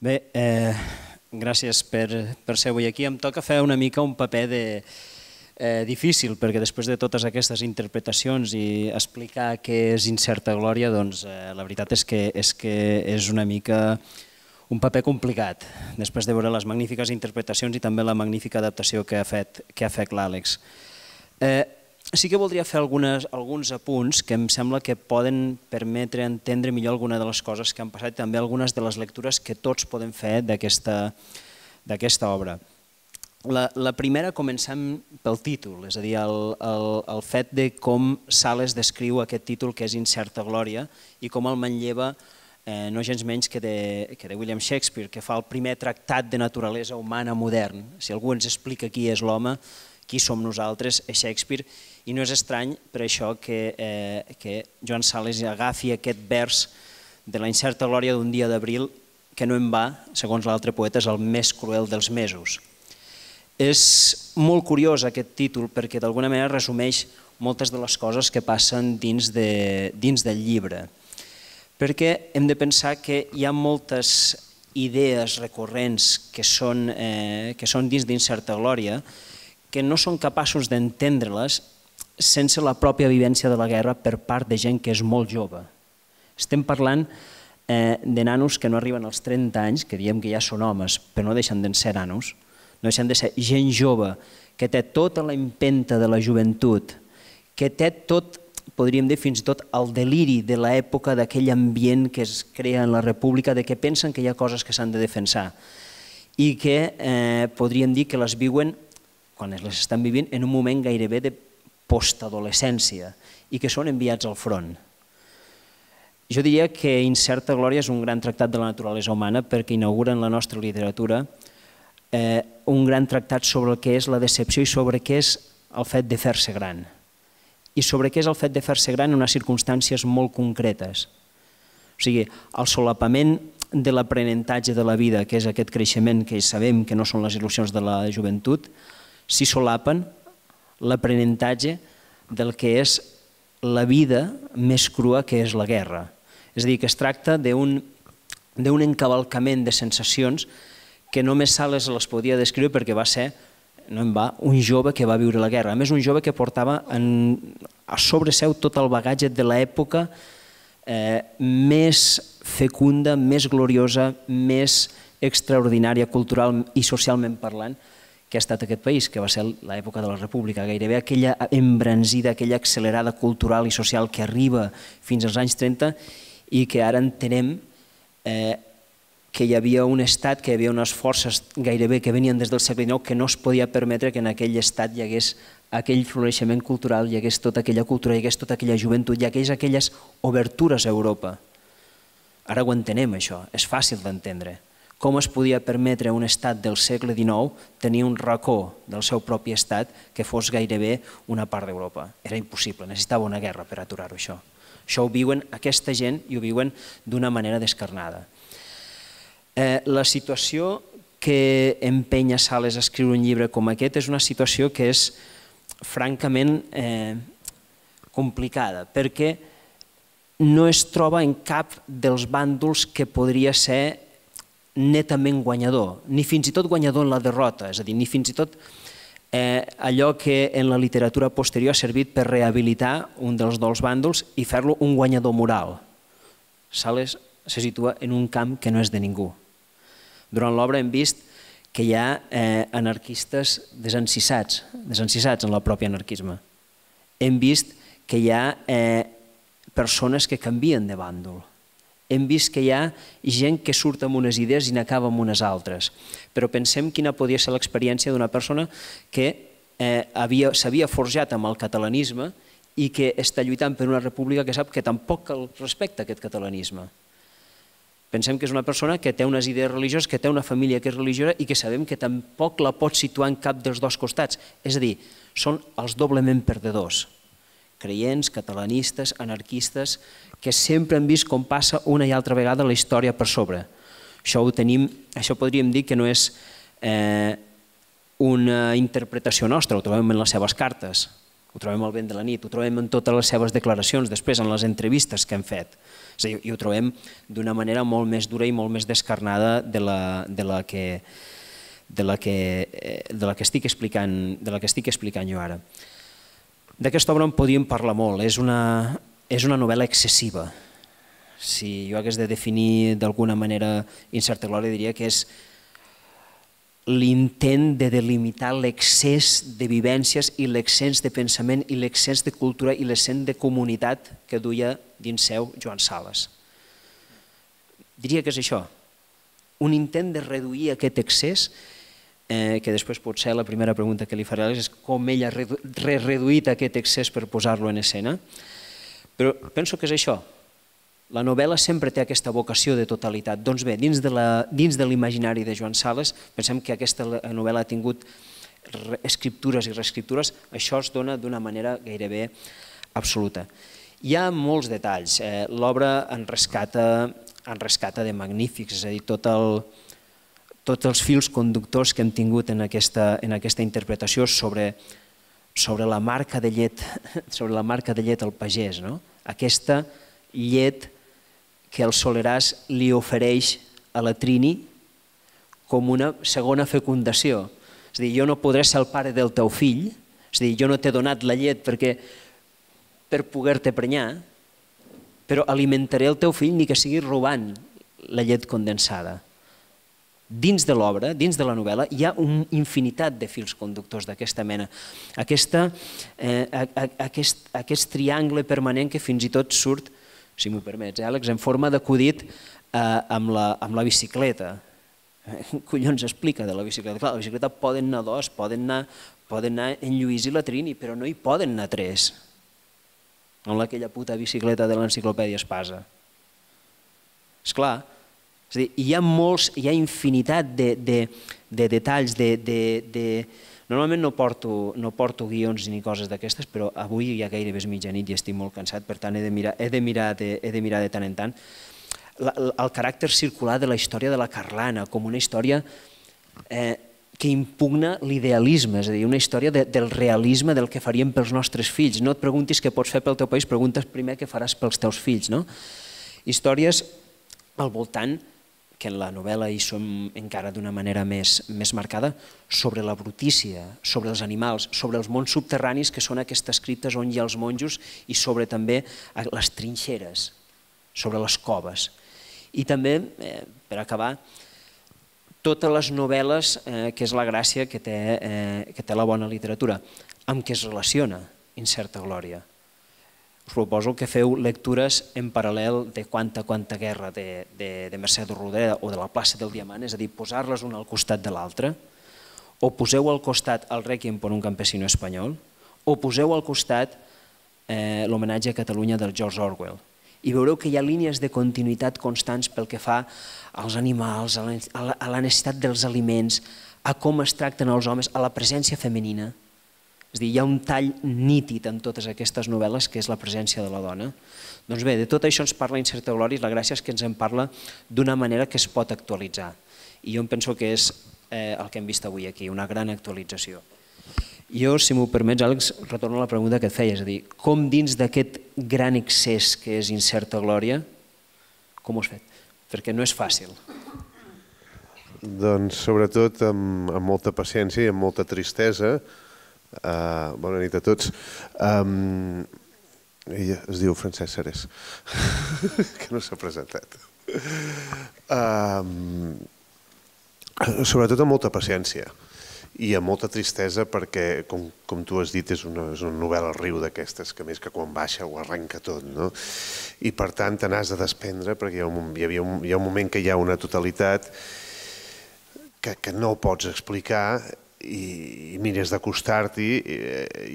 Bé, gràcies per ser avui aquí. Em toca fer una mica un paper difícil, perquè després de totes aquestes interpretacions i explicar què és Incerta Glòria, doncs la veritat és que és una mica un paper complicat, després de veure les magnífiques interpretacions i també la magnífica adaptació que ha fet l'Àlex. Sí que voldria fer alguns apunts que em sembla que poden permetre entendre millor alguna de les coses que han passat i també algunes de les lectures que tots podem fer d'aquesta obra. La primera comencem pel títol, és a dir, el fet de com Sales descriu aquest títol que és Incerta Glòria i com el manlleva no gens menys que de William Shakespeare, que fa el primer tractat de naturalesa humana modern. Si algú ens explica qui és l'home, qui som nosaltres, és Shakespeare, i no és estrany per això que Joan Sales agafi aquest vers de la incerta glòria d'un dia d'abril que no en va, segons l'altre poeta, és el més cruel dels mesos. És molt curiós aquest títol perquè d'alguna manera resumeix moltes de les coses que passen dins del llibre, perquè hem de pensar que hi ha moltes idees recurrents que són dins d'Incerta Glòria que no són capaços d'entendre-les sense la pròpia vivència de la guerra per part de gent que és molt jove. Estem parlant de nanos que no arriben als 30 anys, que diem que ja són homes, però no deixen de ser nanos, no deixen de ser gent jove que té tota la empenta de la joventut, que té tot, podríem dir fins i tot, el deliri de l'època d'aquell ambient que es crea en la república, de que pensen que hi ha coses que s'han de defensar i que podríem dir que les viuen, quan les estan vivint, en un moment gairebé de postadolescència i que són enviats al front. Jo diria que Incerta Glòria és un gran tractat de la naturalesa humana perquè inaugura en la nostra literatura un gran tractat sobre el que és la decepció i sobre què és el fet de fer-se gran. I sobre què és el fet de fer-se gran en unes circumstàncies molt concretes. O sigui, el solapament de l'aprenentatge de la vida, que és aquest creixement que sabem que no són les il·lusions de la joventut, s'hi solapen l'aprenentatge del que és la vida més crua que és la guerra. És a dir, que es tracta d'un encavalcament de sensacions que només Sales les podia descriure perquè va ser, no en va, un jove que va viure la guerra. A més, un jove que portava a sobre seu tot el bagatge de l'època més fecunda, més gloriosa, més extraordinària, cultural i socialment parlant, que ha estat aquest país, que va ser l'època de la República, gairebé aquella embranzida, aquella accelerada cultural i social que arriba fins als anys 30 i que ara entenem que hi havia un estat, que hi havia unes forces gairebé que venien des del segle XIX que no es podia permetre que en aquell estat hi hagués aquell floreixement cultural, hi hagués tota aquella cultura, hi hagués tota aquella joventut, hi hagués aquelles obertures a Europa. Ara ho entenem, això, és fàcil d'entendre. Com es podia permetre a un estat del segle XIX tenir un racó del seu propi estat que fos gairebé una part d'Europa. Era impossible, necessitava una guerra per aturar-ho, això. Això ho viuen aquesta gent i ho viuen d'una manera descarnada. La situació que empenya Sales a escriure un llibre com aquest és una situació que és francament complicada, perquè no es troba en cap dels bàndols que podria ser netament guanyador, ni fins i tot guanyador en la derrota, és a dir, ni fins i tot allò que en la literatura posterior ha servit per rehabilitar un dels dos bàndols i fer-lo un guanyador moral. Sales se situa en un camp que no és de ningú. Durant l'obra hem vist que hi ha anarquistes desencissats en el propi anarquisme. Hem vist que hi ha persones que canvien de bàndol. Hem vist que hi ha gent que surt amb unes idees i n'acaba amb unes altres. Però pensem quina podia ser l'experiència d'una persona que s'havia forjat amb el catalanisme i que està lluitant per una república que sap que tampoc respecta aquest catalanisme. Pensem que és una persona que té unes idees religioses, que té una família que és religiosa i que sabem que tampoc la pot situar en cap dels dos costats. És a dir, són els doblement perdedors. Creients, catalanistes, anarquistes, que sempre han vist com passa una i altra vegada la història per sobre. Això podríem dir que no és una interpretació nostra, ho trobem en les seves cartes. ho trobem al vent de la nit, ho trobem en totes les seves declaracions, després en les entrevistes que hem fet. És a dir, i ho trobem d'una manera molt més dura i molt més descarnada de la que estic explicant jo ara. D'aquesta obra en podíem parlar molt, és una novel·la excessiva. Si jo hagués de definir d'alguna manera Incerta glòria, diria que és l'intent de delimitar l'excés de vivències i l'excés de pensament i l'excés de cultura i l'excés de comunitat que duia dins seu Joan Sales. Diria que és això, un intent de reduir aquest excés, que després potser la primera pregunta que li faré és com ell ha reduït aquest excés per posar-lo en escena, però penso que és això. La novel·la sempre té aquesta vocació de totalitat. Doncs bé, dins de l'imaginari de Joan Sales, pensem que aquesta novel·la ha tingut escriptures i reescriptures, això es dona d'una manera gairebé absoluta. Hi ha molts detalls, l'obra en rescata de magnífics, és a dir, tots els fils conductors que hem tingut en aquesta interpretació sobre la marca de llet al pagès, aquesta llet que el Soleràs li ofereix a la Trini com una segona fecundació. És a dir, jo no podré ser el pare del teu fill, és a dir, jo no t'he donat la llet per poder-te prenyar, però alimentaré el teu fill ni que sigui robant la llet condensada. Dins de l'obra, dins de la novel·la, hi ha una infinitat de fils conductors d'aquesta mena. Aquest triangle permanent que fins i tot surt, si m'ho permets, Àlex, en forma d'acudit amb la bicicleta. Collons explica de la bicicleta? Clar, la bicicleta poden anar dos, poden anar en Lluís i la Trini, però no hi poden anar tres. No aquella puta bicicleta de l'enciclopèdia Espasa. Esclar, és a dir, hi ha infinitat de detalls, normalment no porto guions ni coses d'aquestes, però avui ja gairebé és mitjanit i estic molt cansat, per tant he de mirar de tant en tant el caràcter circular de la història de la Carlana, com una història que impugna l'idealisme, és a dir, una història del realisme del que faríem pels nostres fills. No et preguntis què pots fer pel teu país, preguntes primer què faràs pels teus fills. Històries al voltant, que en la novel·la hi som encara d'una manera més marcada, sobre la brutícia, sobre els animals, sobre els mons subterranis, que són aquestes criptes on hi ha els monjos, i sobre també les trinxeres, sobre les coves. I també, per acabar, totes les novel·les, que és la gràcia que té la bona literatura, amb què es relaciona Incerta glòria. Us proposo que feu lectures en paral·lel de Quanta guerra de Mercè Rodoreda o de la plaça del Diamant, és a dir, posar-les una al costat de l'altra, o poseu al costat el Requiem per un campesino espanyol, o poseu al costat l'homenatge a Catalunya del George Orwell. I veureu que hi ha línies de continuïtat constants pel que fa als animals, a la necessitat dels aliments, a com es tracten els homes, a la presència femenina. És a dir, hi ha un tall nítid en totes aquestes novel·les, que és la presència de la dona. Doncs bé, de tot això ens parla Incerta glòria, i la gràcia és que ens en parla d'una manera que es pot actualitzar. I jo em penso que és el que hem vist avui aquí, una gran actualització. Jo, si m'ho permets, Àlex, retorno a la pregunta que et feia, és a dir, com dins d'aquest gran excés que és Incerta glòria, com ho has fet? Perquè no és fàcil. Doncs sobretot amb molta paciència i amb molta tristesa. Bona nit a tots. Ella es diu Francesc Serés, que no s'ha presentat. Sobretot amb molta paciència i amb molta tristesa perquè, com tu has dit, és una novel·la al riu d'aquestes, que més que quan baixa ho arrenca tot. I per tant te n'has de desprendre perquè hi ha un moment que hi ha una totalitat que no pots explicar i mires d'acostar-t'hi.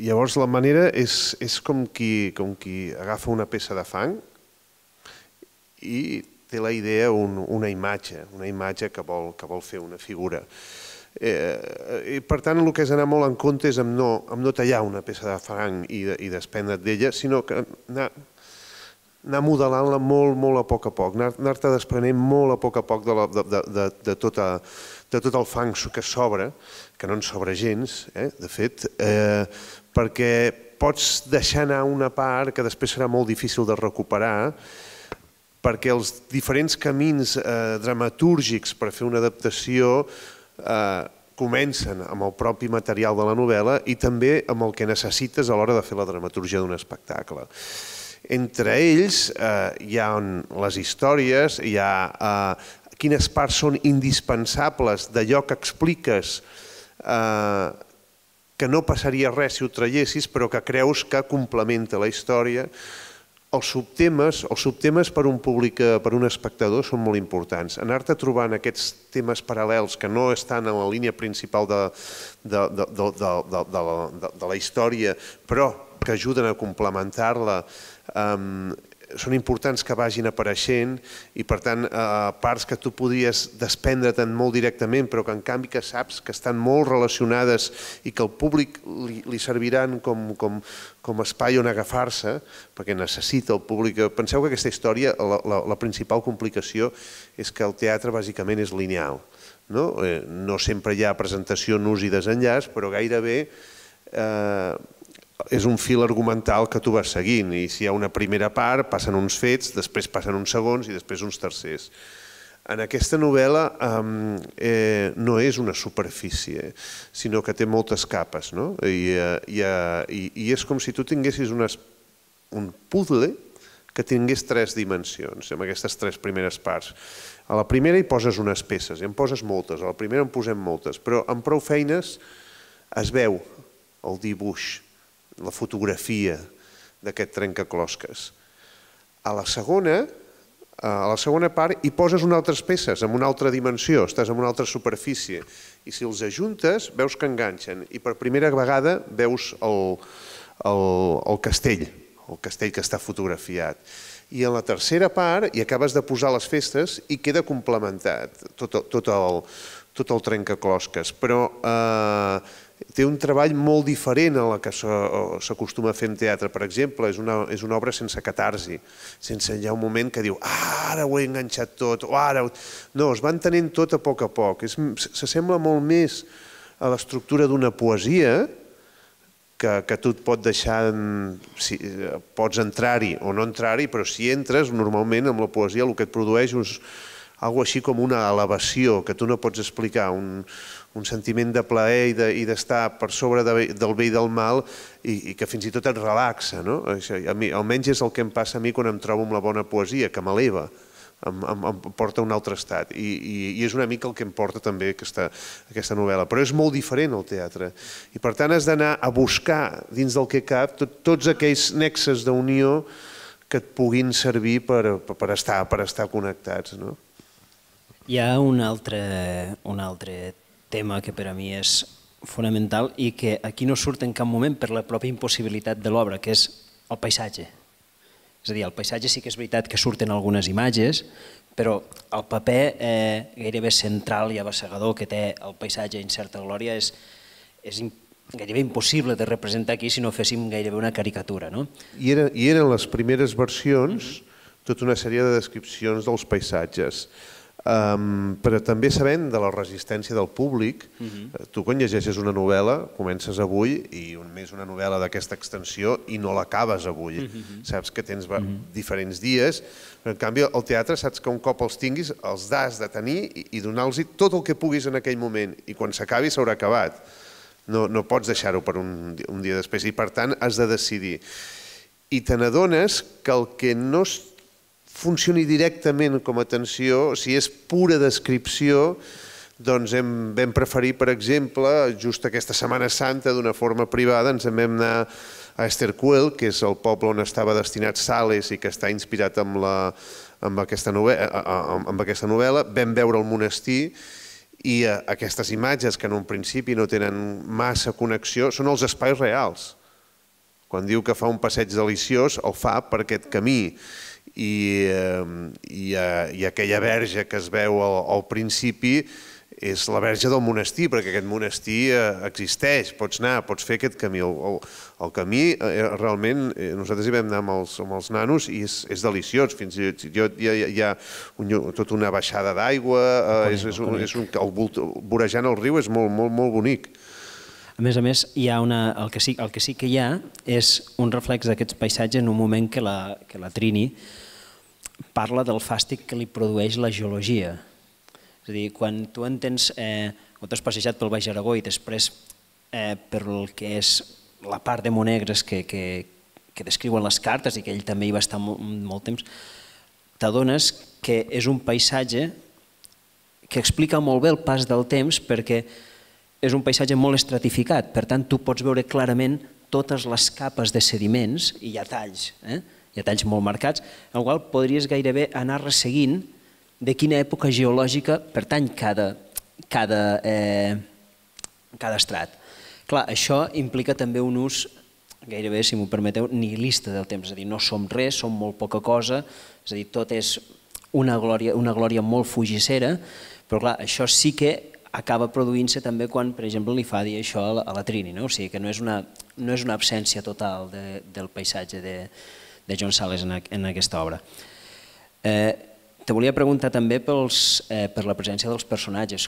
Llavors la manera és com qui agafa una peça de fang i té la idea, una imatge que vol fer una figura. I per tant el que és anar molt en compte és amb no tallar una peça de fang i desprendre't d'ella, sinó que anar modelant-la molt a poc, anar-te desprenent molt a poc de tot el fang que s'obre, que no en sobra gens, de fet, perquè pots deixar anar una part que després serà molt difícil de recuperar, perquè els diferents camins dramatúrgics per fer una adaptació comencen amb el propi material de la novel·la i també amb el que necessites a l'hora de fer la dramatúrgia d'un espectacle. Entre ells hi ha les històries, hi ha quines parts són indispensables d'allò que expliques que no passaria res si ho traiessis, però que creus que complementa la història. Els subtemes per un públic, per un espectador, són molt importants. Anar-te trobant aquests temes paral·lels que no estan en la línia principal de la història, però que ajuden a complementar-la, són importants que vagin apareixent i, per tant, parts que tu podries desprendre-te'n molt directament, però que en canvi que saps que estan molt relacionades i que al públic li serviran com espai on agafar-se, perquè necessita el públic. Penseu que aquesta història, la principal complicació és que el teatre bàsicament és lineal. No sempre hi ha presentació, nus i desenllaç, però gairebé és un fil argumental que tu vas seguint i si hi ha una primera part passen uns fets, després passen uns segons i després uns tercers. En aquesta novel·la no és una superfície, sinó que té moltes capes, i és com si tu tinguessis un puzzle que tingués 3 dimensions, amb aquestes 3 primeres parts. A la primera hi poses unes peces, i en poses moltes, a la primera en posem moltes, però amb prou feines es veu el dibuix, la fotografia d'aquest trencaclosques. A la segona part hi poses unes altres peces, en una altra dimensió, estàs en una altra superfície, i si els ajuntes veus que enganxen, i per primera vegada veus el castell que està fotografiat. I en la tercera part hi acabes de posar les festes i queda complementat tot el trencaclosques, però té un treball molt diferent a la que s'acostuma a fer en teatre. Per exemple, és una obra sense catarsi, sense hi ha un moment que diu ara ho he enganxat tot, o ara... No, es va entenent tot a poc, s'assembla molt més a l'estructura d'una poesia que tu et pot deixar, pots entrar-hi o no entrar-hi, però si entres, normalment amb la poesia el que et produeix és algo així com una elevació, que tu no pots explicar, un sentiment de plaer i d'estar per sobre del bé i del mal i que fins i tot et relaxa. Almenys és el que em passa a mi quan em trobo amb la bona poesia, que m'eleva, em porta a un altre estat. I és una mica el que em porta també aquesta novel·la. Però és molt diferent el teatre. I per tant has d'anar a buscar dins del que cap tots aquells nexes d'unió que et puguin servir per estar connectats. Hi ha un altre tema que per a mi és fonamental i que aquí no surt en cap moment per la pròpia impossibilitat de l'obra, que és el paisatge. És a dir, el paisatge sí que és veritat que surten algunes imatges, però el paper gairebé central i abassegador que té el paisatge Incerta Glòria és gairebé impossible de representar aquí si no féssim gairebé una caricatura. I eren les primeres versions tota una sèrie de descripcions dels paisatges. Però també sabent de la resistència del públic, tu quan llegeixes una novel·la, comences avui i més una novel·la d'aquesta extensió i no l'acabes avui. Saps que tens diferents dies, però en canvi al teatre saps que un cop els tinguis els has de tenir i donar-los tot el que puguis en aquell moment i quan s'acabi s'haurà acabat. No pots deixar-ho per un dia després i per tant has de decidir. I te n'adones que el que no funcioni directament com a tensió, si és pura descripció, doncs vam preferir, per exemple, just aquesta Setmana Santa, d'una forma privada, ens vam anar a Estercuel, que és el poble on estava destinat Sales i que està inspirat amb aquesta novel·la, vam veure el monestir i aquestes imatges, que en un principi no tenen massa connexió, són els espais reals. Quan diu que fa un passeig deliciós, el fa per aquest camí. I aquella verge que es veu al principi és la verge del monestir, perquè aquest monestir existeix, pots anar, pots fer aquest camí. El camí, realment, nosaltres hi vam anar amb els nanos i és deliciós. Fins i tot hi ha tota una baixada d'aigua, vorejant el riu és molt, molt, molt bonic. A més, el que sí que hi ha és un reflex d'aquests paisatges en un moment que la Trini parla del fàstic que li produeix la geologia. És a dir, quan tu entens, o t'has passejat pel Baix Aragó i després per el que és la part de Monegres que descriuen les cartes i que ell també hi va estar molt temps, t'adones que és un paisatge que explica molt bé el pas del temps perquè és un paisatge molt estratificat, per tant tu pots veure clarament totes les capes de sediments i hi ha talls, hi ha talls molt marcats, en el qual podries gairebé anar resseguint de quina època geològica pertany cada estrat. Clar, això implica també un ús gairebé, si m'ho permeteu, nihilista del temps, és a dir, no som res, som molt poca cosa, és a dir, tot és una glòria molt fugissera, però clar, això sí que acaba produint-se també quan, per exemple, li fa dir això a la Trini, o sigui que no és una absència total del paisatge de John Sayles en aquesta obra. Te volia preguntar també per la presència dels personatges.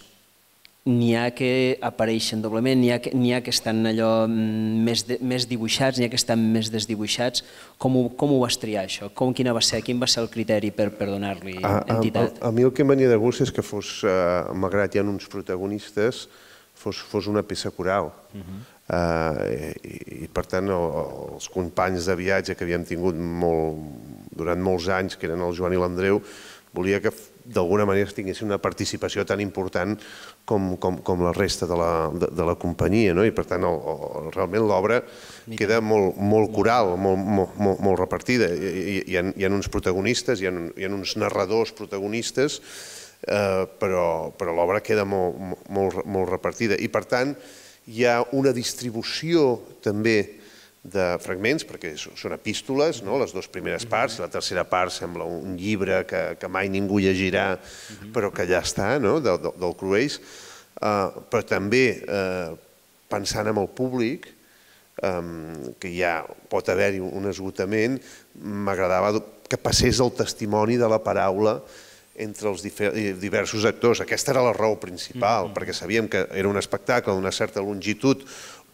N'hi ha que apareixen doblement, n'hi ha que estan allò més dibuixats, n'hi ha que estan més desdibuixats. Com ho vas triar, això? Quin va ser el criteri per donar-li entitat? A mi el que em venia de gust és que fos, malgrat hi ha uns protagonistes, fos una peça coral. I per tant els companys de viatge que havíem tingut durant molts anys, que eren el Joan i l'Andreu, volia que d'alguna manera tinguessin una participació tan important com la resta de la companyia, i per tant realment l'obra queda molt coral, molt repartida. Hi ha uns protagonistes, hi ha uns narradors protagonistes, però l'obra queda molt repartida i per tant hi ha una distribució també de fragments, perquè són epístoles, les dues primeres parts, i la tercera part sembla un llibre que mai ningú llegirà, però que allà està, del Cruells, però també pensant en el públic, que ja pot haver-hi un esgotament, m'agradava que passés el testimoni de la paraula entre els diversos actors. Aquesta era la raó principal, perquè sabíem que era un espectacle d'una certa longitud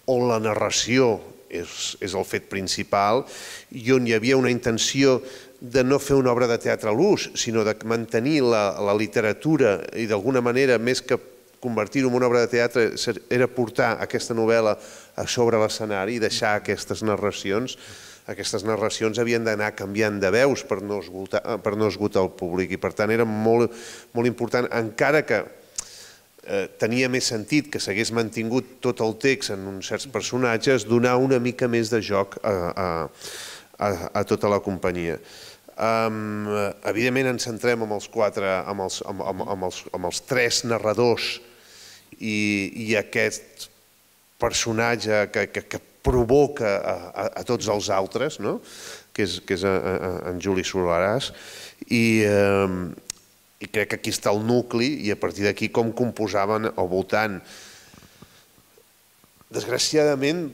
on la narració és el fet principal i on hi havia una intenció de no fer una obra de teatre a l'ús, sinó de mantenir la literatura i d'alguna manera, més que convertir-ho en una obra de teatre, era portar aquesta novel·la a sobre l'escenari i deixar aquestes narracions. Aquestes narracions havien d'anar canviant de veus per no esgotar el públic i per tant era molt important, encara que tenia més sentit que s'hagués mantingut tot el text en uns certs personatges, donar una mica més de joc a tota la companyia. Evidentment ens centrem en els tres narradors i aquest personatge que provoca a tots els altres, que és en Juli Solaràs, i crec que aquí està el nucli i a partir d'aquí com composaven al voltant. Desgraciadament,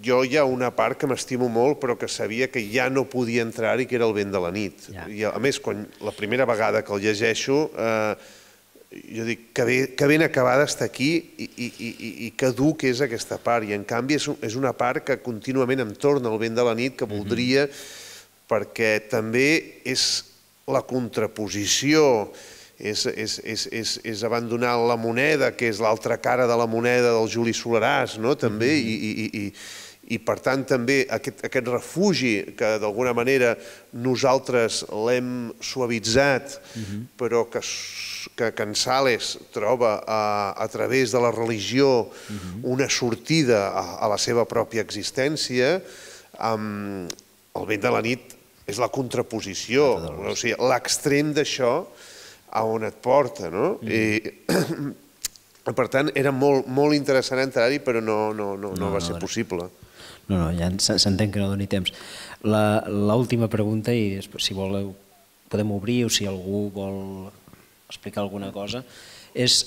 jo hi ha una part que m'estimo molt però que sabia que ja no podia entrar-hi, que era El vent de la nit. A més, la primera vegada que el llegeixo, jo dic que ben acabada està aquí i que dur que és aquesta part. I en canvi és una part que contínuament em torna al vent de la nit, que voldria, perquè també és la contraposició, és abandonar la moneda, que és l'altra cara de la moneda del Juli Solaràs, també, i per tant també aquest refugi que d'alguna manera nosaltres l'hem suavitzat, però que en Sayles troba a través de la religió una sortida a la seva pròpia existència. El vent de la nit és la contraposició, l'extrem d'això a on et porta. Per tant, era molt interessant entrar-hi, però no va ser possible. No, ja s'entén que no doni temps. L'última pregunta, i si voleu podem obrir o si algú vol explicar alguna cosa, és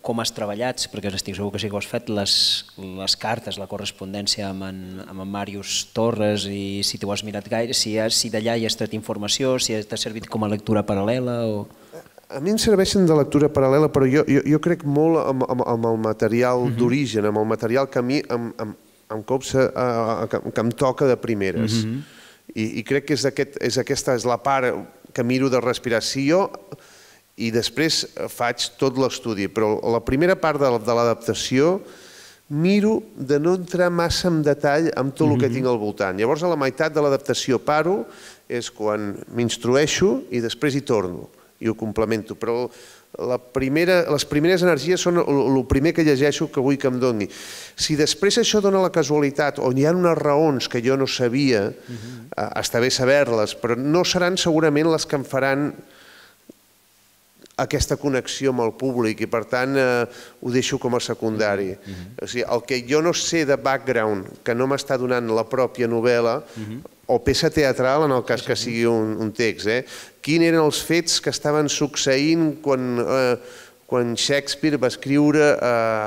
com has treballat, perquè estic segur que sí que ho has fet, les cartes, la correspondència amb en Màrius Torres, i si t'ho has mirat gaire, si d'allà hi has tret informació, si t'ha servit com a lectura paral·lela o... A mi em serveixen de lectura paral·lela, però jo crec molt amb el material d'origen, amb el material que a mi em copsa, que em toca de primeres. I crec que aquesta és la part que miro de respiració i després faig tot l'estudi. Però la primera part de l'adaptació miro de no entrar massa en detall amb tot el que tinc al voltant. Llavors, a la meitat de l'adaptació paro, és quan m'instrueixo i després hi torno i ho complemento. Però les primeres energies són el primer que llegeixo que vull que em doni. Si després això dona la casualitat o hi ha unes raons que jo no sabia, està bé saber-les, però no seran segurament les que em faran aquesta connexió amb el públic i per tant ho deixo com a secundari. O sigui, el que jo no sé de background que no m'està donant la pròpia novel·la o peça teatral en el cas que sigui un text, quins eren els fets que estaven succeint quan Shakespeare va escriure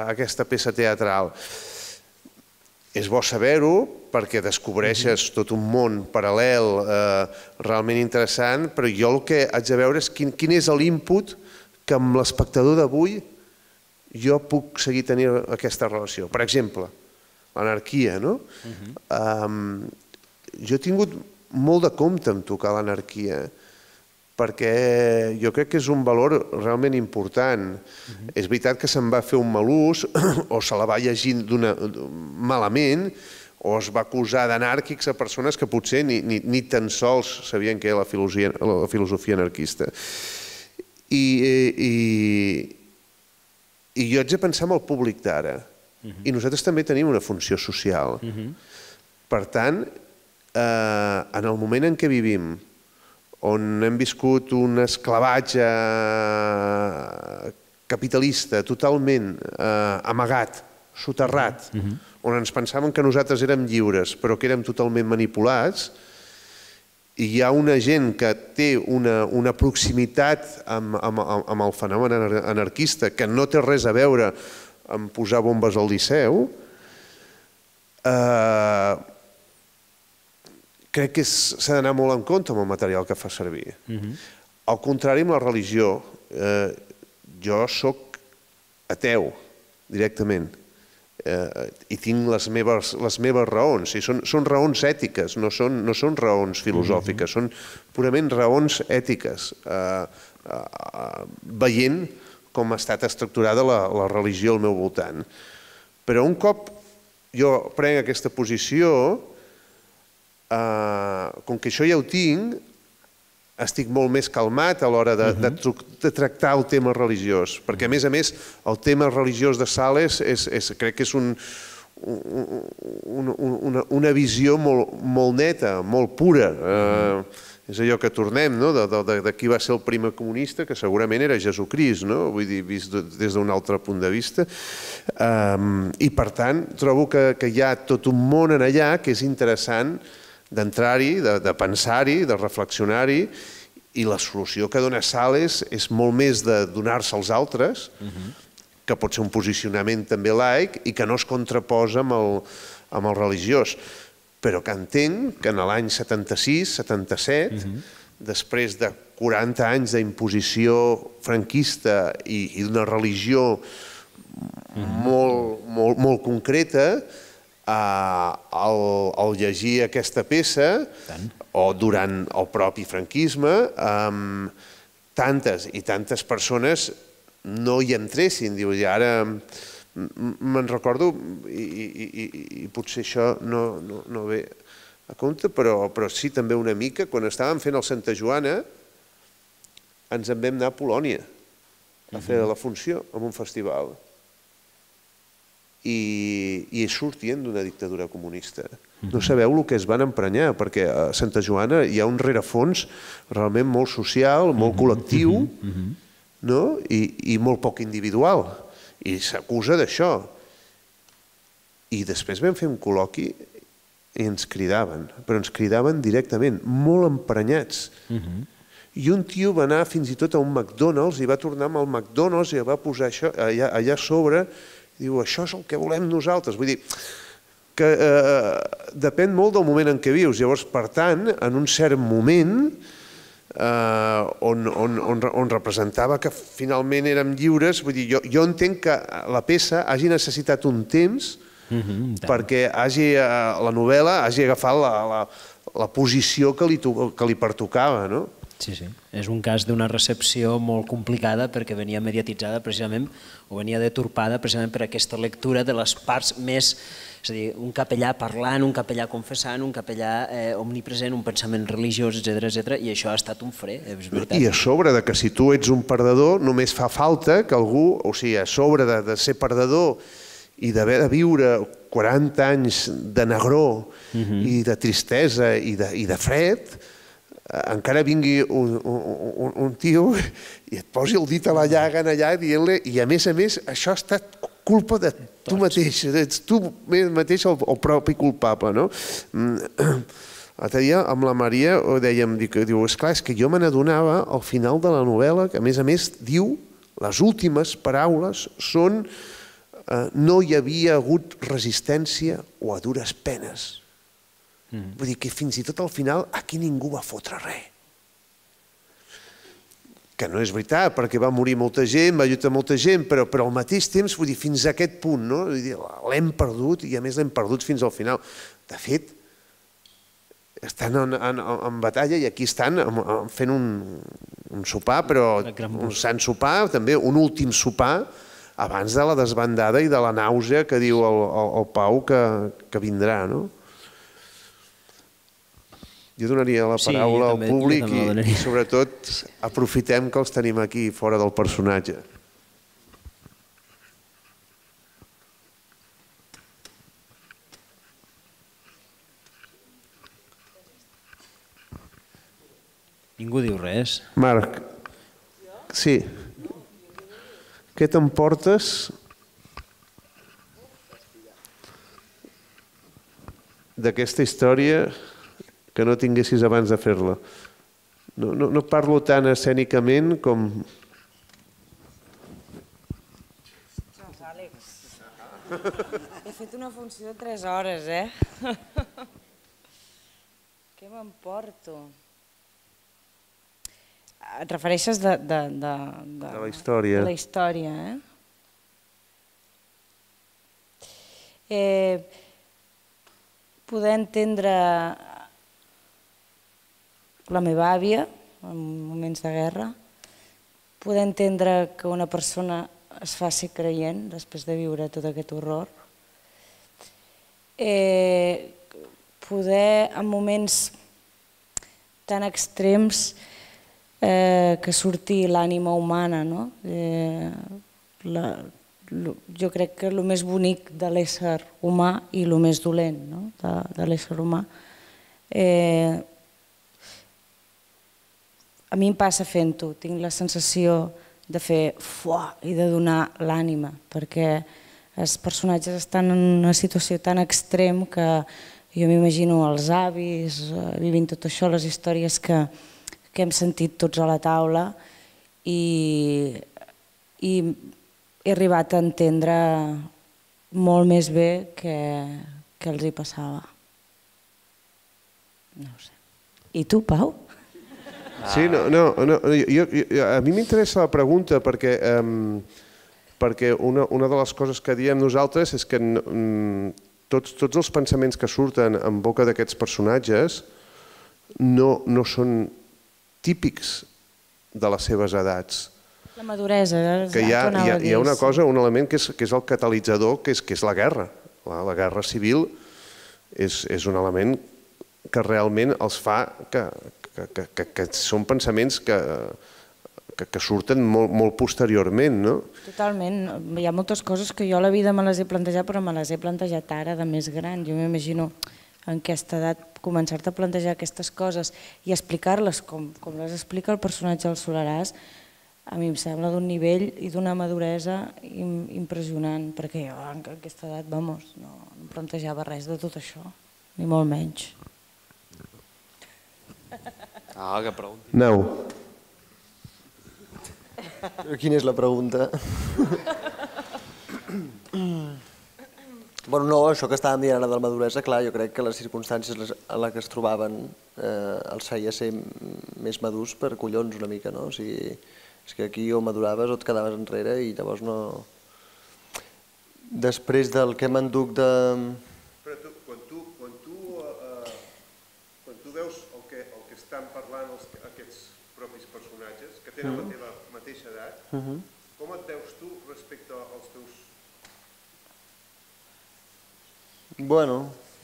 aquesta peça teatral. És bo saber-ho perquè descobreixes tot un món paral·lel realment interessant, però jo el que haig de veure és quin és l'input que amb l'espectador d'avui jo puc seguir tenint aquesta relació. Per exemple, l'anarquia, no? Jo he tingut molt de compte en tocar l'anarquia perquè jo crec que és un valor realment important. És veritat que se'n va fer un mal ús o se la va llegir malament o es va acusar d'anàrquics a persones que potser ni tan sols sabien què era la filosofia anarquista. I jo haig de pensar en el públic d'ara. I nosaltres també tenim una funció social. Per tant, en el moment en què vivim, on hem viscut un esclavatge capitalista totalment amagat, soterrat, on ens pensàvem que nosaltres érem lliures però que érem totalment manipulats, i hi ha una gent que té una proximitat amb el fenomen anarquista que no té res a veure amb posar bombes al Liceu, crec que s'ha d'anar molt en compte amb el material que fa servir. Al contrari, amb la religió, jo soc ateu, directament, i tinc les meves raons. Són raons ètiques, no són raons filosòfiques, són purament raons ètiques, veient com ha estat estructurada la religió al meu voltant. Però un cop jo prenc aquesta posició, com que això ja ho tinc, estic molt més calmat a l'hora de tractar el tema religiós, perquè a més, el tema religiós de Sales crec que és una visió molt neta, molt pura. És allò que tornem, de qui va ser el primer comunista, que segurament era Jesucrist, vull dir, vist des d'un altre punt de vista. I per tant, trobo que hi ha tot un món en allà que és interessant d'entrar-hi, de pensar-hi, de reflexionar-hi, i la solució que dona Sales és molt més de donar-se als altres, que pot ser un posicionament també laic i que no es contraposa amb el religiós, però que entenc que en l'any 76-77, després de 40 anys d'imposició franquista i d'una religió molt concreta, al llegir aquesta peça, o durant el propi franquisme, tantes i tantes persones no hi entressin. I ara me'n recordo, i potser això no ve a compte, però sí també una mica, quan estàvem fent el Santa Joana, ens en vam anar a Polònia a fer la funció en un festival. I sortien d'una dictadura comunista. No sabeu el que es van emprenyar, perquè a Santa Joana hi ha un rerefons realment molt social, molt col·lectiu, i molt poc individual. I s'acusa d'això. I després vam fer un col·loqui i ens cridaven, però ens cridaven directament, molt emprenyats. I un tio va anar fins i tot a un McDonald's i va tornar amb el McDonald's i va posar això allà a sobre. Diu, això és el que volem nosaltres. Vull dir que depèn molt del moment en què vius. Llavors, per tant, en un cert moment, on representava que finalment érem lliures. Vull dir, jo entenc que la peça hagi necessitat un temps perquè la novel·la hagi agafat la posició que li pertocava, no? Sí, sí. És un cas d'una recepció molt complicada perquè venia mediatitzada precisament, o venia deturpada precisament per aquesta lectura de les parts més, és a dir, un capellà parlant, un capellà confessant, un capellà omnipresent, un pensament religiós, etc. I això ha estat un fre, és veritat. I a sobre de que si tu ets un perdedor, només fa falta que algú, o sigui, a sobre de ser perdedor i d'haver de viure 40 anys de negror i de tristesa i de fred, encara vingui un tio i et posi el dit a la llaga allà dient-li, i a més, això ha estat culpa de tu mateix, ets tu mateix el propi culpable, no? L'altre dia amb la Maria ho dèiem, diu, esclar, és que jo me n'adonava al final de la novel·la que a més diu, les últimes paraules són no hi havia hagut resistència o a dures penes. Vull dir que fins i tot al final aquí ningú va fotre res. Que no és veritat, perquè va morir molta gent, va lluitar molta gent, però al mateix temps, vull dir, fins a aquest punt, no? L'hem perdut i a més l'hem perdut fins al final. De fet, estan en batalla i aquí estan fent un sopar, però un sant sopar, també un últim sopar, abans de la desbandada i de la nàusea que diu el Pau que vindrà, no? Jo donaria la paraula al públic i sobretot aprofitem que els tenim aquí fora del personatge. Ningú diu res. Marc, sí. Què t'emportes d'aquesta història que no tinguessis abans de fer-la? No parlo tan escènicament com... Ostres, Àlex, he fet una funció de 3 hores, Què m'emporto? Et refereixes de la història. De la història, Poder entendre la meva àvia en moments de guerra, poder entendre que una persona es faci creient després de viure tot aquest horror, poder en moments tan extrems que surti l'ànima humana, no? Jo crec que el més bonic de l'ésser humà i el més dolent de l'ésser humà. A mi em passa fent-ho, tinc la sensació de fer fuà i de donar l'ànima, perquè els personatges estan en una situació tan extrem que jo m'imagino els avis vivint tot això, les històries que hem sentit tots a la taula i he arribat a entendre molt més bé què els hi passava. No ho sé. I tu, Pau? Sí, a mi m'interessa la pregunta perquè una de les coses que diem nosaltres és que tots els pensaments que surten en boca d'aquests personatges no són típics de les seves edats. La maduresa. Que hi ha una cosa, un element que és el catalitzador, que és la guerra. La guerra civil és un element que realment els fa que són pensaments que surten molt posteriorment, no? Totalment. Hi ha moltes coses que jo a la vida me les he plantejat, però me les he plantejat ara de més gran. Jo m'imagino en aquesta edat començar-te a plantejar aquestes coses i explicar-les com les explica el personatge del Soleràs, a mi em sembla d'un nivell i d'una maduresa impressionant, perquè jo en aquesta edat, vamos, no em plantejava res de tot això, ni molt menys. Que pregunti. Nau. Quina és la pregunta? Bueno, no, això que estàvem dient ara de la maduresa, clar, jo crec que les circumstàncies en les que es trobaven els feia ser més madurs per collons una mica, no? O sigui, és que aquí o maduraves o et quedaves enrere i llavors no... Després del que m'enduc de... Però quan tu veus el que estan parlant aquests propis personatges, que tenen la teva mateixa edat, com et veus tu respecte als teus... Bueno,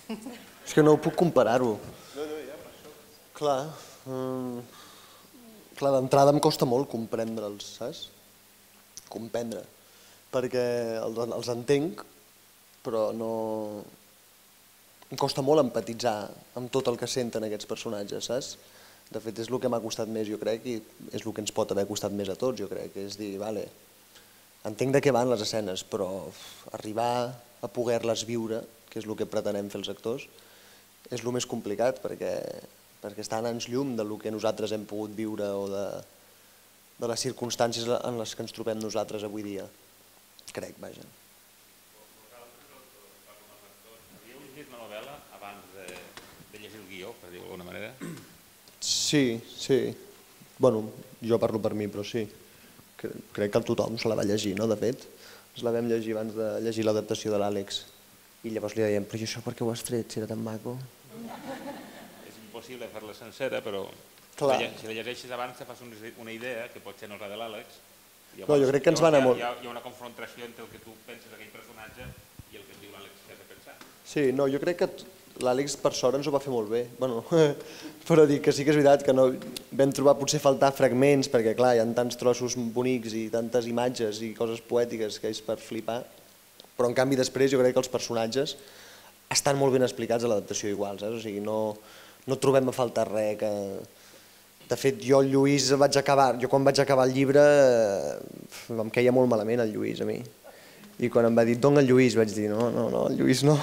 és que no puc comparar-ho. No, ja, per això. Clar, d'entrada em costa molt comprendre'ls, saps? Comprendre. Perquè els entenc, però no... Em costa molt empatitzar amb tot el que senten aquests personatges, saps? De fet, és el que m'ha costat més, jo crec, i és el que ens pot haver costat més a tots, jo crec, és dir, vale, entenc de què van les escenes, però arribar a poder-les viure, que és el que pretenem fer els actors, és el més complicat, perquè està a anys llum del que nosaltres hem pogut viure o de les circumstàncies en les que ens trobem nosaltres avui dia. Crec, vaja. Havíeu llegit la novel·la abans de llegir el guió, per dir-ho d'alguna manera? Sí. Bueno, jo parlo per mi, però sí. Crec que tothom se la va llegir, no? De fet, ens la vam llegir abans de llegir l'adaptació de l'Àlex. I llavors li dèiem, però i això per què ho has tret, si era tan maco? És impossible fer-la sencera, però si la llegeixes abans te fas una idea, que pot ser no la de l'Àlex. No, jo crec que ens va anar molt... Hi ha una confrontació entre el que tu penses d'aquell personatge i el que et diu l'Àlex que has de pensar. Sí, no, jo crec que l'Àlex per sort ens ho va fer molt bé. Bueno, però dic que sí que és veritat que no vam trobar potser faltar fragments, perquè clar, hi ha tants trossos bonics i tantes imatges i coses poètiques que és per flipar, però en canvi després jo crec que els personatges estan molt ben explicats a l'adaptació igual, saps? O sigui, no trobem a faltar res que... De fet, jo el Lluís quan vaig acabar el llibre em queia molt malament el Lluís a mi. I quan em va dir, dona el Lluís, vaig dir, no, el Lluís no.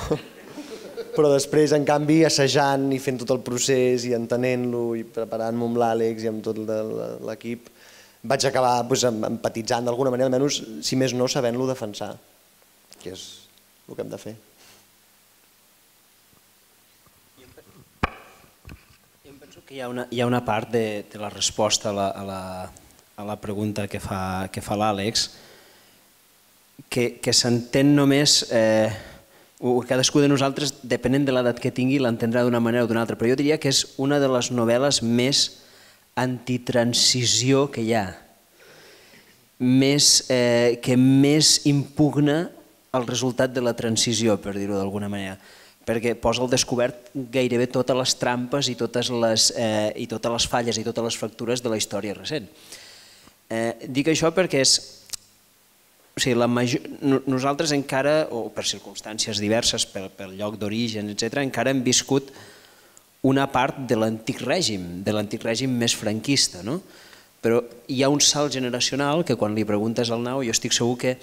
Però després, en canvi, assajant i fent tot el procés i entenent-lo i preparant-me amb l'Àlex i amb tot l'equip, vaig acabar empatitzant d'alguna manera, almenys, si més no, sabent-lo defensar, que és el que hem de fer. Que hi ha una part de la resposta a la pregunta que fa l'Àlex que s'entén només, cadascú de nosaltres, depenent de l'edat que tingui, l'entendrà d'una manera o d'una altra, però jo diria que és una de les novel·les més antitransició que hi ha, que més impugna el resultat de la transició, per dir-ho d'alguna manera, perquè posa al descobert gairebé totes les trampes i totes les falles i totes les fractures de la història recent. Dic això perquè nosaltres encara, o per circumstàncies diverses, pel lloc d'origen, etc., encara hem viscut una part de l'antic règim més franquista, no? Però hi ha un salt generacional que quan li preguntes al Nau, jo estic segur que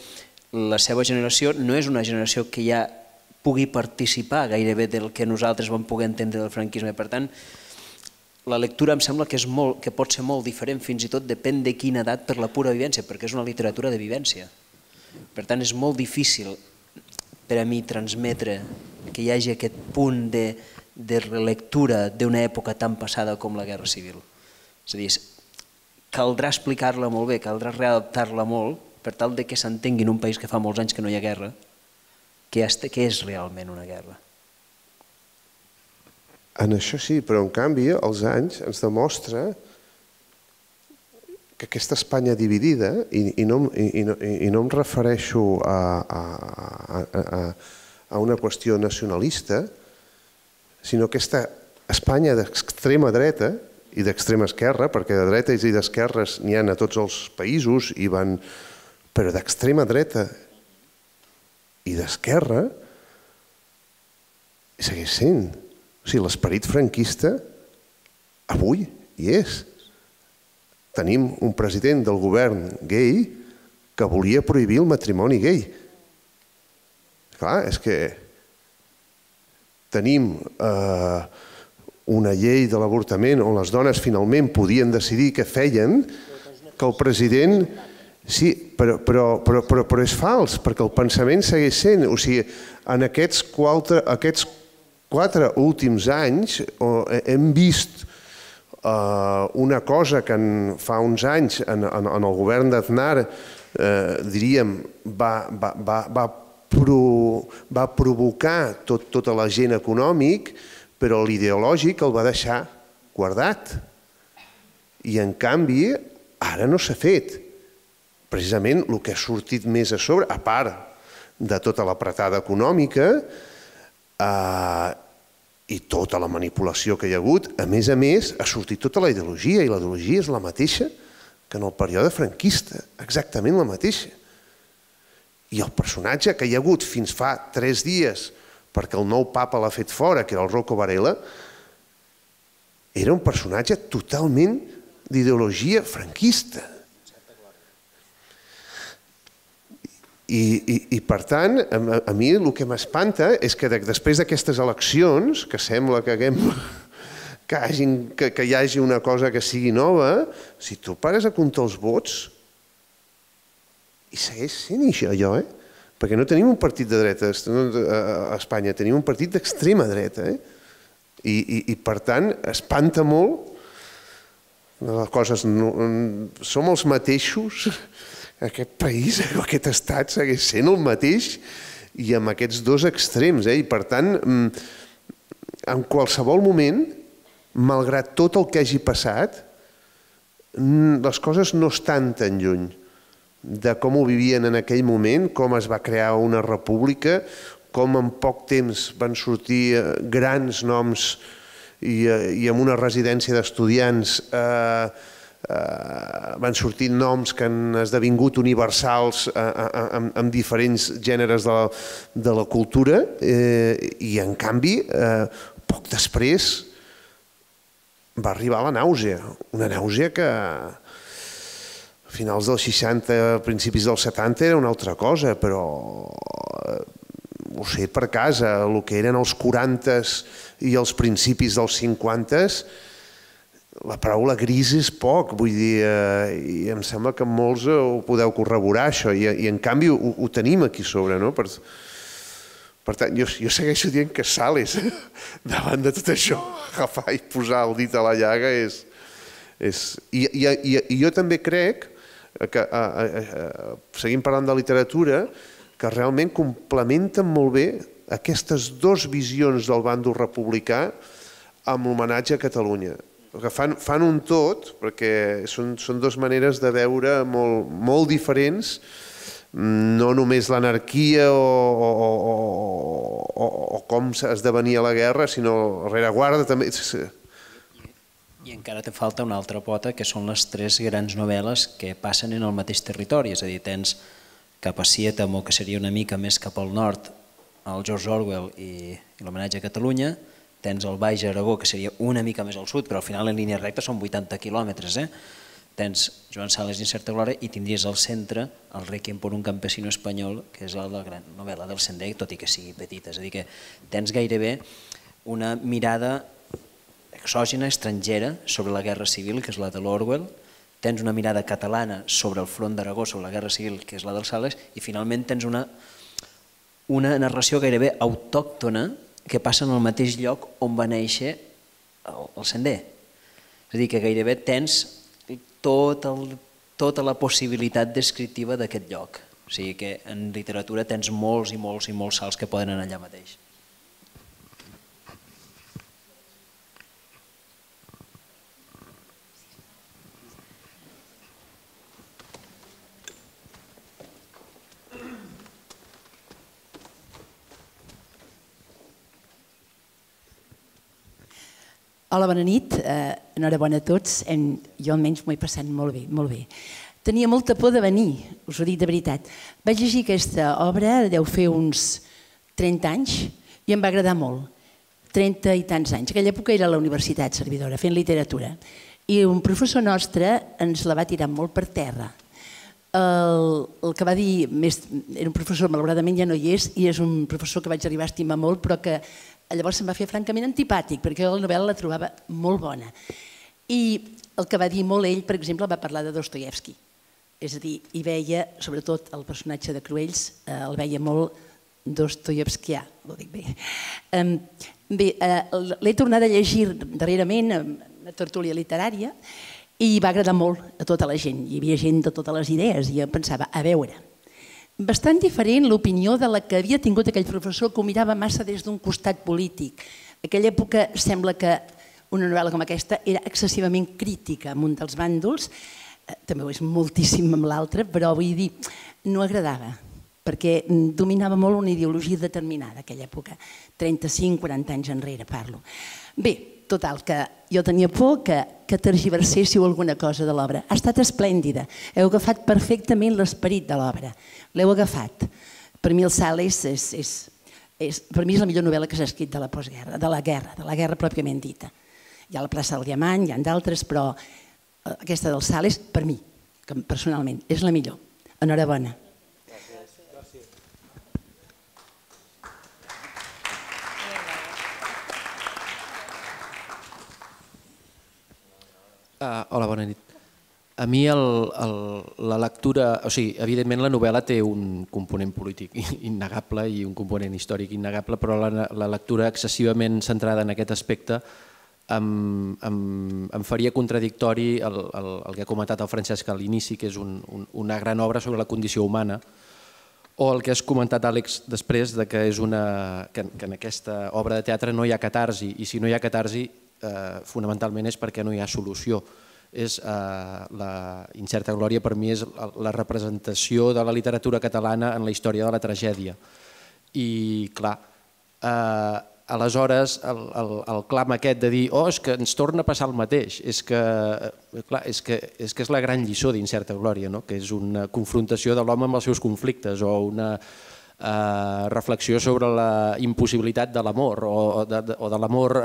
la seva generació no és una generació que ja pugui participar gairebé del que nosaltres vam poder entendre del franquisme. Per tant, la lectura em sembla que pot ser molt diferent, fins i tot depèn de quina edat per la pura vivència, perquè és una literatura de vivència. Per tant, és molt difícil per a mi transmetre que hi hagi aquest punt de relectura d'una època tan passada com la Guerra Civil. És a dir, caldrà explicar-la molt bé, caldrà readaptar-la molt per tal que s'entengui en un país que fa molts anys que no hi ha guerra, què és realment una guerra. En això sí, però en canvi els anys ens demostra que aquesta Espanya dividida, i no em refereixo a una qüestió nacionalista, sinó aquesta Espanya d'extrema dreta i d'extrema esquerra, perquè de dretes i d'esquerres n'hi ha a tots els països, però d'extrema dreta i d'esquerra segueix sent. O sigui, l'esperit franquista avui hi és. Tenim un president del govern gai que volia prohibir el matrimoni gai. Clar, és que tenim una llei de l'avortament on les dones finalment podien decidir què feien, que el president... Sí, però és fals, perquè el pensament segueix sent. O sigui, en aquests 4 últims anys hem vist una cosa que fa uns anys en el govern d'Aznar, diríem, va provocar tot l'agent econòmic, però l'ideològic el va deixar guardat. I en canvi, ara no s'ha fet. Precisament el que ha sortit més a sobre, a part de tota l'apretada econòmica i tota la manipulació que hi ha hagut, a més, ha sortit tota la ideologia, i la ideologia és la mateixa que en el període franquista, exactament la mateixa. I el personatge que hi ha hagut fins fa 3 dies, perquè el nou papa l'ha fet fora, que era el Rocco Varela, era un personatge totalment d'ideologia franquista. I per tant, a mi el que m'espanta és que després d'aquestes eleccions, que sembla que hi hagi una cosa que sigui nova, si tu pares a comptar els vots, i segueix sent allò, perquè no tenim un partit de dreta a Espanya, tenim un partit d'extrema dreta, i per tant espanta molt les coses. Som els mateixos, aquest país, aquest estat segueix sent el mateix, i amb aquests dos extrems, i per tant, en qualsevol moment, malgrat tot el que hagi passat, les coses no estan tan lluny de com ho vivien en aquell moment, com es va crear una república, com en poc temps van sortir grans noms i amb una residència d'estudiants van sortir noms que han esdevingut universals en diferents gèneres de la cultura, i en canvi, poc després va arribar la nàusea, una nàusea que a finals dels 60, principis dels 70 era una altra cosa, però ho sé per casa, el que eren els 40s i els principis dels 50s, la paraula gris és poc, vull dir, i em sembla que molts ho podeu corroborar, això, i en canvi ho tenim aquí sobre, no? Per tant, jo segueixo dient que Sales, davant de tot això, agafar i posar el dit a la llaga és... I jo també crec que, seguim parlant de literatura, que realment complementen molt bé aquestes dues visions del bàndol republicà amb l'homenatge a Catalunya. Fan un tot, perquè són dues maneres de veure molt diferents, no només l'anarquia o com esdevenia la guerra, sinó la rereguarda també. I encara te falta una altra pota, que són les 3 grans novel·les que passen en el mateix territori, és a dir, tens cap a Sietamo, que seria una mica més cap al nord, el George Orwell i l'homenatge a Catalunya, tens el Baix Aragó, que seria una mica més al sud, però al final en línia recta són 80 quilòmetres. Tens Joan Sales d'Incerta Glòria i tindries al centre el Requiem por un campesino espanyol, que és la gran novel·la del Sender, tot i que sigui petita. És a dir, que tens gairebé una mirada exògena, estrangera, sobre la Guerra Civil, que és la de l'Orwell, tens una mirada catalana sobre el front d'Aragó, sobre la Guerra Civil, que és la del Sales, i finalment tens una narració gairebé autòctona que passa en el mateix lloc on va néixer el Sender. És a dir, que gairebé tens tota la possibilitat descriptiva d'aquest lloc. O sigui que en literatura tens molts i molts i molts salts que poden anar allà mateix. Hola, bona nit. Enhorabona a tots. Jo almenys m'ho he passat molt bé, molt bé. Tenia molta por de venir, us ho dic de veritat. Vaig llegir aquesta obra, deu fer uns 30 anys, i em va agradar molt. 30 i tants anys. Aquella època era a la Universitat Servidora, fent literatura. I un professor nostre ens la va tirar molt per terra. El que va dir, era un professor, malauradament ja no hi és, i és un professor que vaig arribar a estimar molt, però que llavors se'm va fer francament antipàtic, perquè la novel·la la trobava molt bona. I el que va dir molt ell, per exemple, va parlar de Dostoievski. És a dir, hi veia, sobretot el personatge de Cruells, el veia molt dostoievskià, ho dic bé. Bé, l'he tornat a llegir darrerament, una tertúlia literària, i va agradar molt a tota la gent. Hi havia gent de totes les idees i jo pensava, a veure, bastant diferent l'opinió de la que havia tingut aquell professor que ho mirava massa des d'un costat polític. En aquella època sembla que una novel·la com aquesta era excessivament crítica amb un dels bàndols, també ho és moltíssim amb l'altre, però vull dir, no agradava, perquè dominava molt una ideologia determinada aquella època, 35-40 anys enrere parlo. Bé, total, que jo tenia por que tergiverséssiu alguna cosa de l'obra. Ha estat esplèndida, heu agafat perfectament l'esperit de l'obra, l'heu agafat. Per mi el Sales per mi és la millor novel·la que s'ha escrit de la postguerra, de la guerra pròpiament dita. Hi ha la plaça del Diamant, hi ha d'altres, però aquesta del Sales, per mi, personalment, és la millor. Enhorabona. Hola, bona nit. A mi la lectura, o sigui, evidentment la novel·la té un component polític innegable i un component històric innegable, però la lectura excessivament centrada en aquest aspecte em faria contradictori el que ha comentat el Francesc a l'inici, que és una gran obra sobre la condició humana, o el que has comentat, Àlex, després, que en aquesta obra de teatre no hi ha catarsi, i si no hi ha catarsi, fonamentalment és perquè no hi ha solució. La Incerta Glòria per mi és la representació de la literatura catalana en la història de la tragèdia. I clar, aleshores el clam aquest de dir és que ens torna a passar el mateix, és que és la gran lliçó d'Incerta Glòria, que és una confrontació de l'home amb els seus conflictes o una reflexió sobre la impossibilitat de l'amor o de l'amor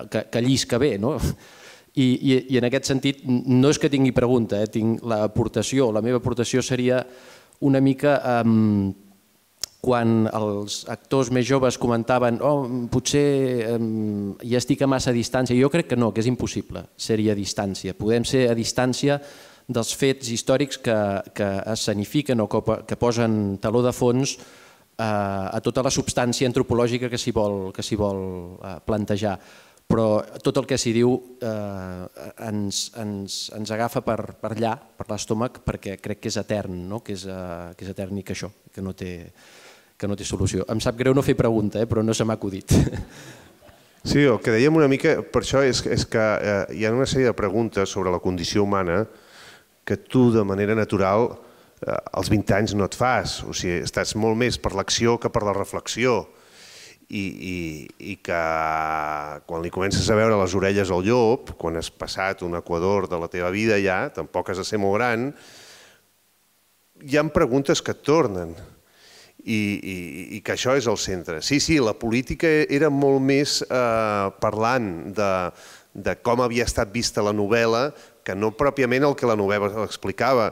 que llisca bé. I en aquest sentit no és que tingui pregunta, tinc l'aportació. La meva aportació seria una mica quan els actors més joves comentaven potser ja estic a massa distància. Jo crec que no, que és impossible ser-hi a distància. Podem ser a distància dels fets històrics que escenifiquen o que posen taló de fons a tota la substància antropològica que s'hi vol plantejar. Però tot el que s'hi diu ens agafa per allà, per l'estómac, perquè crec que és etern, que és etern i que això, que no té solució. Em sap greu no fer pregunta, però no se m'ha acudit. Sí, el que dèiem una mica per això és que hi ha una sèrie de preguntes sobre la condició humana que tu de manera natural als 20 anys no et fas. O sigui, estàs molt més per l'acció que per la reflexió i que quan li comences a veure les orelles al llop, quan has passat un equador de la teva vida ja, tampoc has de ser molt gran, hi ha preguntes que et tornen i que això és el centre. Sí, la política era molt més parlant de com havia estat vista la novel·la que no pròpiament el que la novel·la explicava.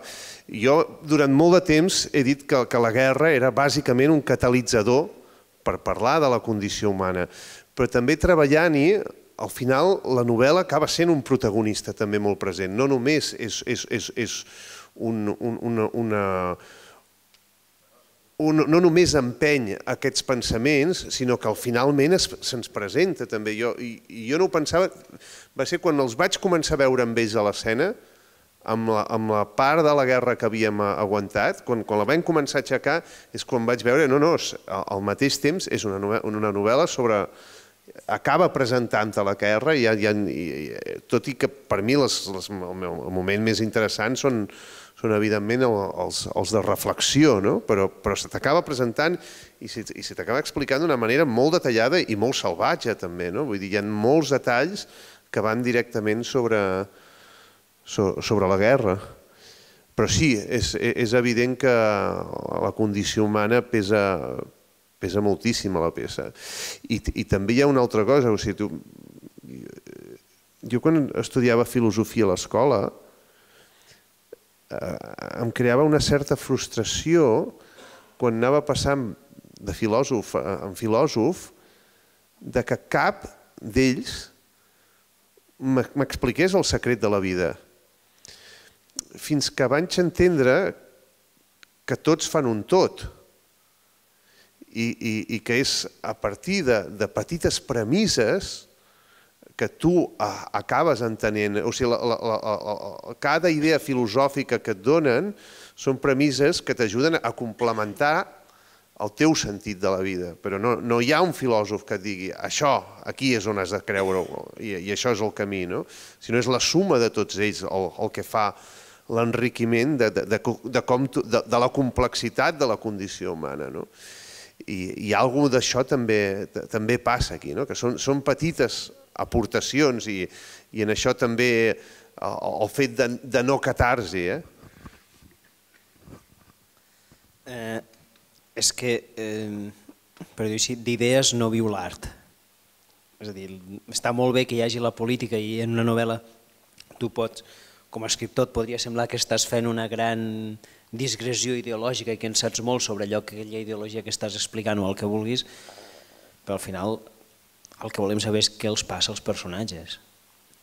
Jo durant molt de temps he dit que la guerra era bàsicament un catalitzador per parlar de la condició humana, però també treballant-hi, al final la novel·la acaba sent un protagonista també molt present. No només no només empeny aquests pensaments, sinó que finalment se'ns presenta també. I jo no ho pensava, va ser quan els vaig començar a veure amb ells a l'escena, amb la part de la guerra que havíem aguantat, quan la vam començar a aixecar, és quan vaig veure, al mateix temps és una novel·la sobre... acaba presentant-te la guerra, tot i que per mi el moment més interessant són evidentment els de reflexió, però se t'acaba presentant i se t'acaba explicant d'una manera molt detallada i molt salvatge també. Vull dir, hi ha molts detalls que van directament sobre la guerra. Però sí, és evident que la condició humana pesa moltíssim a la peça. I també hi ha una altra cosa. Jo quan estudiava filosofia a l'escola em creava una certa frustració quan anava passant de filòsof en filòsof de que cap d'ells m'expliqués el secret de la vida. Fins que vaig entendre que tots fan un tot i que és a partir de petites premisses que tu acabes entenent. O sigui, cada idea filosòfica que et donen són premisses que t'ajuden a complementar el teu sentit de la vida, però no hi ha un filòsof que et digui això, aquí és on has de creure-ho i això és el camí, sinó és la suma de tots ells el que fa l'enriquiment de la complexitat de la condició humana. I alguna d'això també passa aquí, que són petites aportacions i en això també el fet de no catarsi. És que, per dir-ho així, d'idees no viu l'art. És a dir, està molt bé que hi hagi la política i en una novel·la tu pots, com a escriptor, et podria semblar que estàs fent una gran digressió ideològica i que en saps molt sobre allò, aquella ideologia que estàs explicant o el que vulguis, però al final el que volem saber és què els passa als personatges.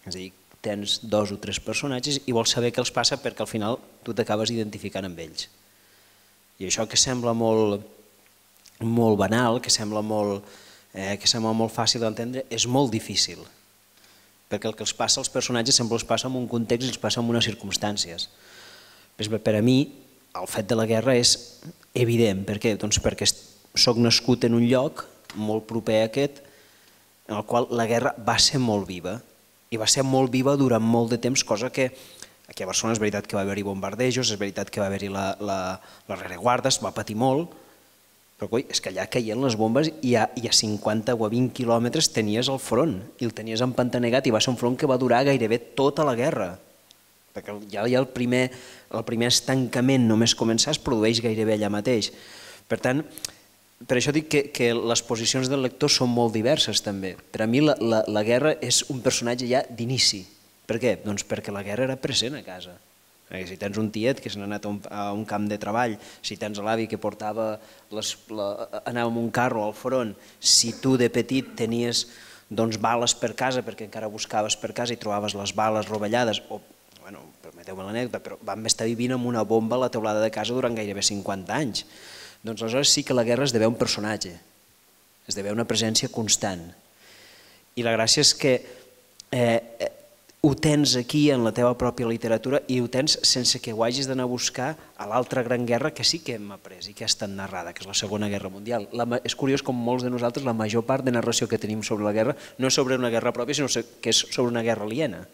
És a dir, tens 2 o 3 personatges i vols saber què els passa perquè al final tu t'acabes identificant amb ells. I això que sembla molt banal, que sembla molt fàcil d'entendre, és molt difícil. Perquè el que els passa als personatges sempre els passa en un context i els passa en unes circumstàncies. Per a mi, el fet de la guerra és evident. Per què? Doncs perquè soc nascut en un lloc molt proper a aquest, en el qual la guerra va ser molt viva. I va ser molt viva durant molt de temps, cosa que aquí a Barcelona és veritat que va haver-hi bombardejos, és veritat que va haver-hi la rereguarda, es va patir molt, però és que allà caien les bombes i a 50 o a 20 quilòmetres tenies el front i el tenies empantanegat i va ser un front que va durar gairebé tota la guerra, perquè ja el primer estancament només començar es produeix gairebé allà mateix. Per tant, per això dic que les posicions del lector són molt diverses també. Per a mi la guerra és un personatge ja d'inici. Per què? Doncs perquè la guerra era present a casa. Si tens un tiet que se n'ha anat a un camp de treball, si tens l'avi que anava amb un carro al front, si tu de petit tenies bales per casa perquè encara buscaves per casa i trobaves les bales rovellades, o, permeteu-me l'anècdota, però vam estar vivint amb una bomba a la teulada de casa durant gairebé 50 anys. Doncs aleshores sí que la guerra esdevé un personatge, esdevé una presència constant. I la gràcia és que ho tens aquí en la teva pròpia literatura i ho tens sense que ho hagis d'anar a buscar a l'altra gran guerra que sí que hem après i que ha estat narrada, que és la Segona Guerra Mundial. És curiós com molts de nosaltres, la major part de narració que tenim sobre la guerra no és sobre una guerra pròpia, sinó que és sobre una guerra aliena.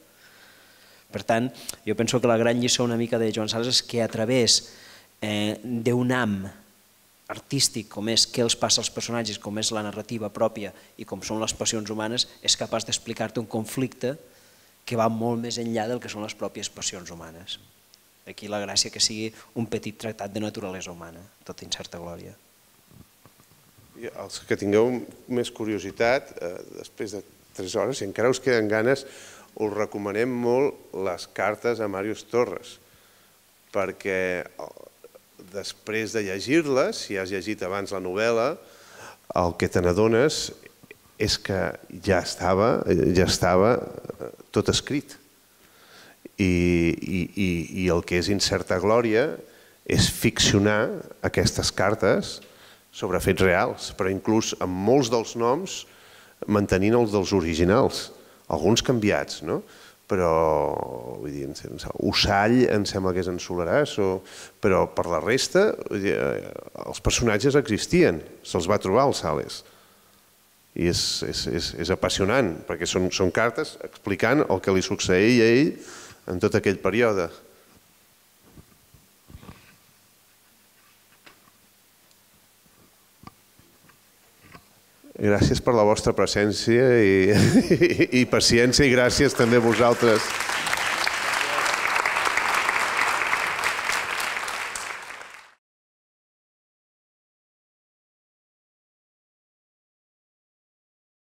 Per tant, jo penso que la gran lliçó una mica de Joan Sales és que a través d'un ham artístic com és què els passa als personatges, com és la narrativa pròpia i com són les passions humanes, és capaç d'explicar-te un conflicte que va molt més enllà del que són les pròpies passions humanes. Aquí la gràcia que sigui un petit tractat de naturalesa humana, tot incerta glòria. Els que tingueu més curiositat, després de 3 hores, si encara us queden ganes, us recomanem molt les cartes a Màrius Torres, perquè després de llegir-les, si has llegit abans la novel·la, el que te n'adones és que ja estava tot escrit. I el que és incerta glòria és ficcionar aquestes cartes sobre fets reals, però inclús amb molts dels noms mantenint els dels originals, alguns canviats, no? Però, vull dir, Ussall em sembla que és en Soleràs, però per la resta els personatges existien, se'ls va trobar al Sales. I és apassionant, perquè són cartes explicant el que li succeïa a ell en tot aquell període. Gràcies per la vostra presència i paciència i gràcies també a vosaltres.